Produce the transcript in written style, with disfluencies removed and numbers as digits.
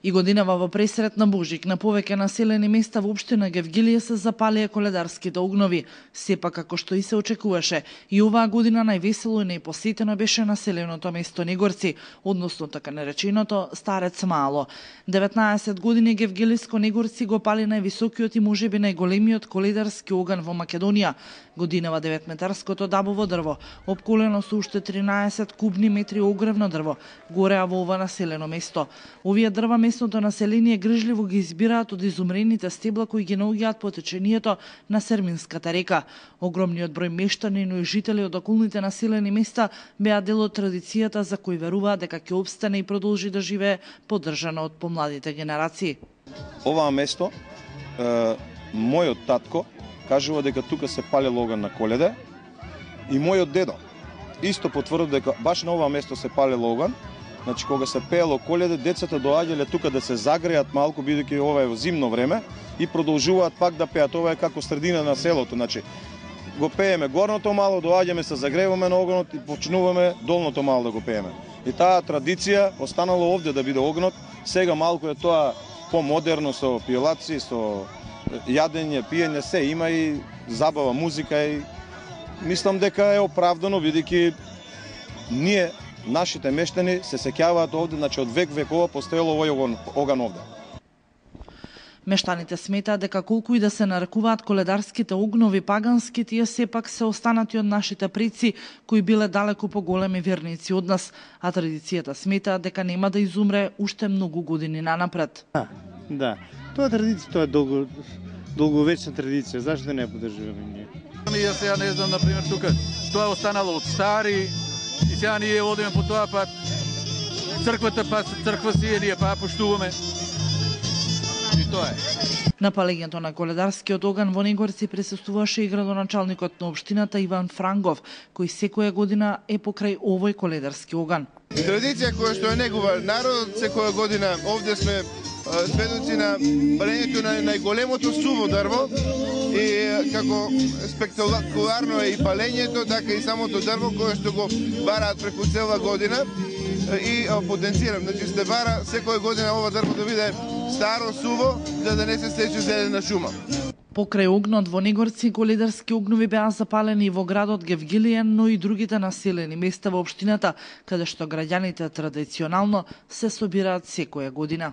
И годинава во пресрет на Божик на повеќе населени места во општина Гевгилие се запалија коледарските огнови. Сепак, како што и се очекуваше, и оваа година највесело и најпосетено беше населеното место Негорци, односно така нареченото Старец Мало. 19 години Гевгилиско Негорци го пали највисокиот и можеби најголемиот коледарски оган во Македонија. Годинава 9-метарското дабово дрво, опколено со уште 13 кубни метри огревно дрво, гореа во ова населено место. Овие дрва местното население грижливо ги избираат од изумрените стебла кои ги наоѓаат по течението на Серминската река. Огромниот број мештани и жители од околните населени места беа дел од традицијата за кој веруваат дека ќе опстане и продолжи да живее, поддржано од помладите генерации. Оваа место, мојот татко кажува дека тука се палел оган на Коледа и мојот дедо исто потврди дека баш на оваа место се палел оган. Значи, кога се пеело Коледа, децата доаѓале тука да се загреат малку, бидејќи ова е во зимно време, и продолжуваат пак да пеат. Ова е како средина на селото. Значи, го пееме горното мало, доаѓаме се загреваме на огнот и почнуваме долното мало да го пееме. И таа традиција останала овде да биде огнот. Сега малку е тоа помодерно со пиелаци, со јадење, пиење, се има и забава, музика и мислам дека е оправдано, бидејќи ние нашите мештани се сеќаваат овде, значи од векова постоело овој оган овде. Мештаните сметаат дека колку и да се нарекуваат коледарските огнови пагански, тие сепак се останати од нашите предци кои биле далеку поголеми верници од нас, а традицијата сметаат дека нема да изумре уште многу години нанапред. Да. Тоа традиција, тоа е долговечна традиција, зашто не ја поддржуваме ние? Јас сега не знам, например, тука тоа е останало од стари и сега ние одиме по тоа, па црквата, па црква си ние па поштуваме. И тоа е. На палењето на коледарскиот оган во Негорци присуствуваше и градоначалникот на општината Иван Франгов, кој секоја година е покрај овој коледарски оган. Традиција која што е негува народот, секоја година овде сме сведоци на палењето на најголемото суво дрво и како спектакуларно е и палењето, така и самото дрво кое што го бараат преку цела година и потенцирам, значи се бара секоја година ова дрво да биде старо, суво, за да не се сече зелена шума. Покрај огнот во Негорци, коледарски огнови беа запалени и во градот Гевгилие, но и другите населени места во општината, каде што граѓаните традиционално се собираат секоја година.